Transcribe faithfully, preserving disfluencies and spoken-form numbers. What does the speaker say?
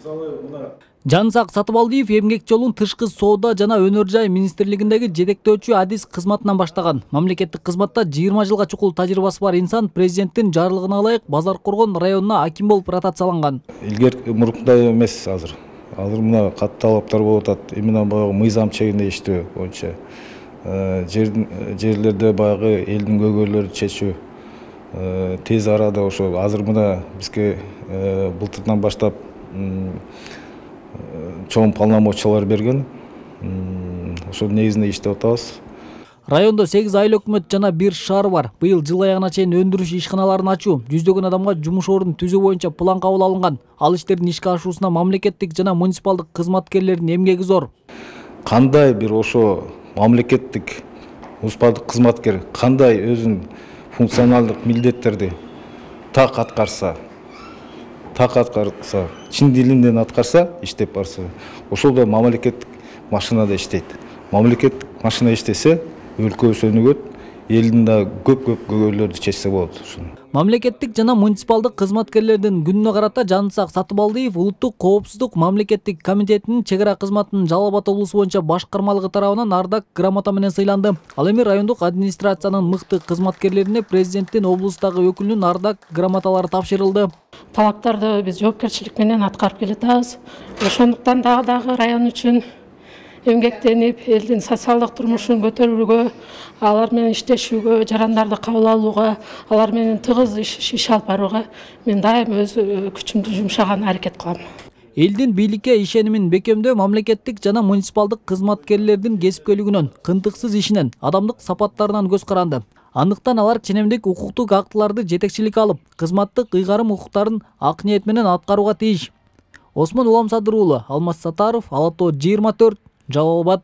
мисалы мына Жансак Сатыбалдиев эмгек жолун тышкы соода жана өнөр жай министрлигиндеги жетектөөчү адис кызматынан баштаган. Мамлекеттик кызматта жыйырма жылга чукул тажрыйбасы бар инсан президенттин жарлыгына ылайык Базар Коргон районуна аким болуп ротацияланган. Илгер мурункудай эмес азыр. Азыр мына катуу талаптар болуп атат. Именно баягы мыйзам чегинде иштөө боюнча. Жерлерде баягы элдин көйгөйлөрүн чечүү тез арада ошо азыр мына бизге былтырдан баштап чоң полномочиялар берген. Ошол негизинде иштеп атабыз. Райондо сегиз айыл өкмөт жана бир шаар бар. Быйыл жыл аягына чейин өндүрүш ишканаларын ачуу, жүздөгөн адамга жумуш ордун түзүү боюнча план кабыл алынган. Ал иштердин ишке ашуусуна мамлекеттик жана муниципалдык кызматкерлердин эмгеги зор. Кандай бир ошо мамлекеттик муниципалдык кызматкер кандай өзүнүн функционалдык милдеттерди так аткарса, так аткарса, чын дилинен аткарса, иштеп барса, ошол да мамлекеттик машинада иштейт. Мамлекеттик машина иштесе, өлкө өнүгөт, элдин да көп-көп көйгөйлөрдү чечсе болот. Мамлекеттик жана муниципалдык кызматкерлердин күнүнө карата Жансак Сатыбалдиев Улуттук коопсуздук мамлекеттик комитетинин чек ара кызматынын Жалал Абад облусу боюнча башкармалыгы тарабынан ардак грамота менен сыйланды. Ал эми райондук администрациянын мыкты кызматкерлерине президенттин облустагы өкүлүнүн ардак грамоталары тапшырылды. Талаптарды биз жоопкерчилик менен аткарып келатабыз. Ошондуктан дагы дагы район үчүн эмгектенип, элдин социалдык турмушун көтөрүүгө, алар менен иштешүүгө, жарандарды кабыл алууга, алар менен тыгыз иш алып барууга мен дайым өз күчүмдү жумшаганга аракет кылам. Элдин бийликке ишенимин бекемдөө мамлекеттик жана муниципалдык кызматкерлердин кесипкөйлүгүнөн, кынтыксыз ишинен, адамдык сапаттарынан көз каранды. Андыктан алар ченемдик укуктук актыларды жетекчиликке алып, кызматтык ыйгарым укуктарын ак ниет менен аткарууга тийиш. Осмон Уламсадыр уулу, Алмаз Сатаров, Ала Тоо жыйырма төрт, Жалал Абад.